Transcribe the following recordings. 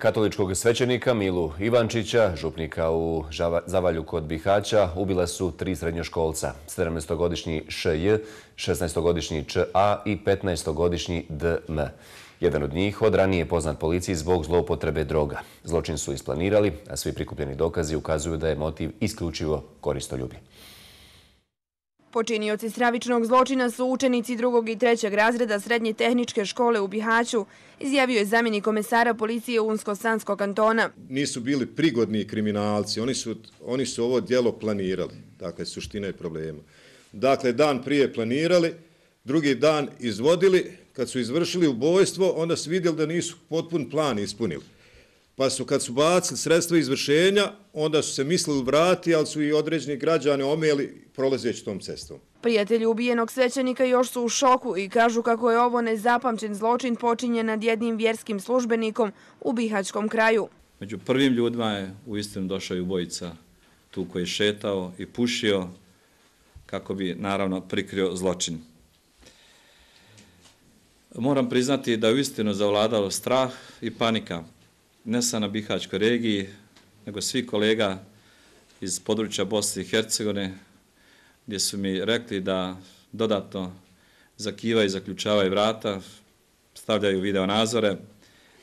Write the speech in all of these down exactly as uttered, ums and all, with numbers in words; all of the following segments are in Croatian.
Katoličkog svećenika Milu Ivančića, župnika u Zavalju kod Bihaća, ubila su tri srednjoškolca, sedamnaestogodišnji Š J, šesnaestogodišnji Č A i petnaestogodišnji D M. Jedan od njih od ranije poznat policiji zbog zloupotrebe droga. Zločin su isplanirali, a svi prikupljeni dokazi ukazuju da je motiv isključivo koristoljublje. Počinioci stravičnog zločina su učenici drugog i trećeg razreda srednje tehničke škole u Bihaću, izjavio je zamjenik komesara policije Unsko-Sanskog kantona. Nisu bili prigodni kriminalci, oni su, oni su ovo djelo planirali, dakle suština je problema. Dakle, dan prije planirali, drugi dan izvodili, kad su izvršili ubojstvo, onda su vidjeli da nisu potpun plan ispunili. Pa su kad su bacili sredstva izvršenja, onda su se mislili vrati, ali su i određeni građani omeli prolazeći tom cestom. Prijatelji ubijenog svećenika još su u šoku i kažu kako je ovo nezapamćen zločin počinjen nad jednim vjerskim službenikom u Bihaćkom kraju. Među prvim ljudima je uistinu došao i ubojica tu koji je šetao i pušio kako bi naravno prikrio zločin. Moram priznati da je uistinu zavladalo strah i panika. Ne samo na Bihaćkoj regiji, nego svi kolega iz područja Bosne i Hercegovine, gdje su mi rekli da dodatno zakivaju i zaključavaju vrata, stavljaju video nazore,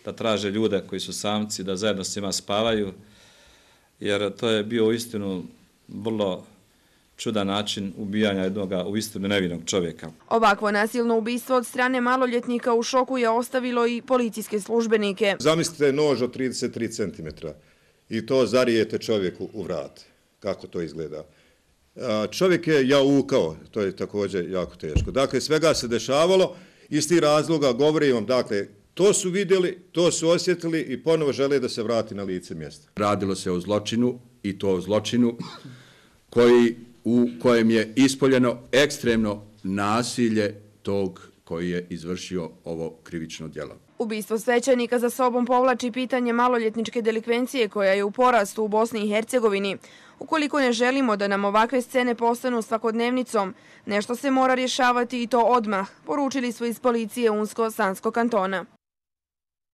da traže ljude koji su samci, da zajedno s njima spavaju, jer to je bio uistinu vrlo čudan način ubijanja jednog uistinu nevinog čovjeka. Ovakvo nasilno ubistvo od strane maloljetnika u šoku je ostavilo i policijske službenike. Zamislite nož od trideset tri centimetra i to zarijete čovjeku u vrat. Kako to izgleda? Čovjek je jaukao, to je također jako teško. Dakle, svega se dešavalo, iz tih razloga govorim vam, dakle, to su vidjeli, to su osjetili i ponovo žele da se vrati na lice mjesta. Radilo se o zločinu i to o zločinu koji u kojem je ispoljeno ekstremno nasilje tog koji je izvršio ovo krivično djelo. Ubistvo svećenika za sobom povlači pitanje maloljetničke delikvencije koja je u porastu u Bosni i Hercegovini. Ukoliko ne želimo da nam ovakve scene postanu svakodnevnicom, nešto se mora rješavati i to odmah, poručili su iz policije Unsko-Sanskog kantona.